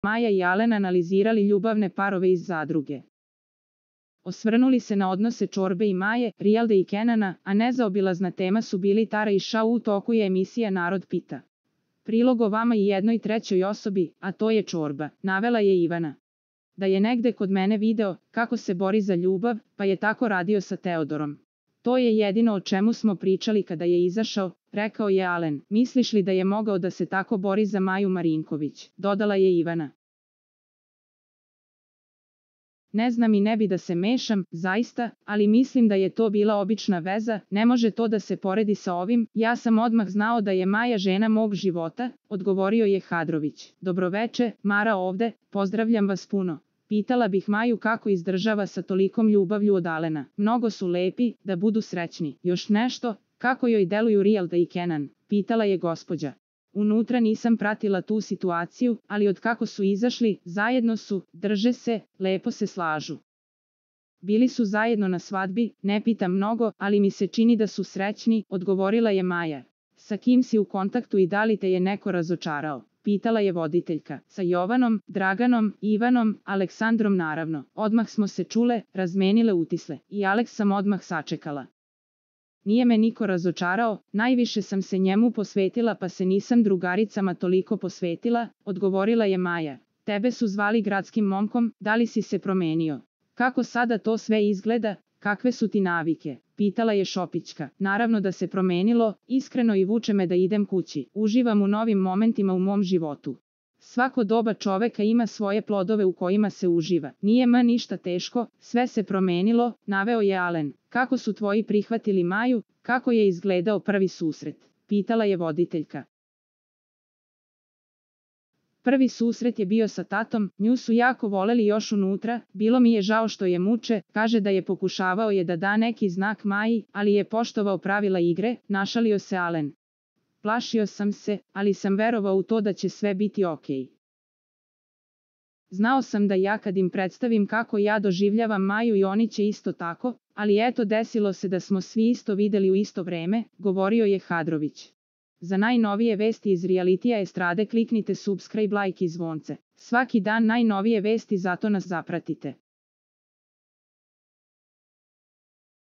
Maja i Alen analizirali ljubavne parove iz zadruge. Osvrnuli se na odnose Čorbe i Maje, Rijalde i Kenana, a nezaobilazna tema su bili Tara i Šau. U toku je emisija Narod pita. Prilog o vama i jednoj trećoj osobi, a to je Čorba, navela je Ivana. Da je negde kod mene video kako se bori za ljubav, pa je tako radio sa Teodorom. To je jedino o čemu smo pričali kada je izašao, rekao je Alen. Misliš li da je mogao da se tako bori za Maju Marinković, dodala je Ivana. Ne znam i ne bi da se mešam, zaista, ali mislim da je to bila obična veza, ne može to da se poredi sa ovim, ja sam odmah znao da je Maja žena mog života, odgovorio je Hadrović. Dobroveče, Mara ovde, pozdravljam vas puno. Pitala bih Maju kako izdržava sa tolikom ljubavlju od Alena. Mnogo su lepi, da budu srećni. Još nešto, kako joj deluju Rijalda i Kenan, pitala je gospođa. Unutra nisam pratila tu situaciju, ali od kako su izašli, zajedno su, drže se, lepo se slažu. Bili su zajedno na svadbi, ne pitam mnogo, ali mi se čini da su srećni, odgovorila je Maja. Sa kim si u kontaktu i da li te je neko razočarao? Pitala je voditeljka. Sa Jovanom, Draganom, Ivanom, Aleksandrom naravno. Odmah smo se čule, razmenile utisle. I Aleks sam odmah sačekala. Nije me niko razočarao, najviše sam se njemu posvetila pa se nisam drugaricama toliko posvetila, odgovorila je Maja. Tebe su zvali gradskim momkom, da li si se promenio? Kako sada to sve izgleda, kakve su ti navike? Pitala je Šopićka. Naravno da se promenilo, iskreno i vuče me da idem kući. Uživam u novim momentima u mom životu. Svako doba čoveka ima svoje plodove u kojima se uživa. Nije ništa teško, sve se promenilo, naveo je Alen. Kako su tvoji prihvatili Maju, kako je izgledao prvi susret? Pitala je voditeljka. Prvi susret je bio sa tatom, nju su jako voleli još unutra, bilo mi je žao što je muče, kaže da je pokušavao je da da neki znak Maji, ali je poštovao pravila igre, našalio se Alen. Plašio sam se, ali sam verovao u to da će sve biti okej. Znao sam da ja kad im predstavim kako ja doživljavam Maju i oni će isto tako, ali eto desilo se da smo svi isto videli u isto vreme, govorio je Hadrović. Za najnovije vesti iz realitija estrade kliknite subscribe, like i zvonce. Svaki dan najnovije vesti, zato nas zapratite.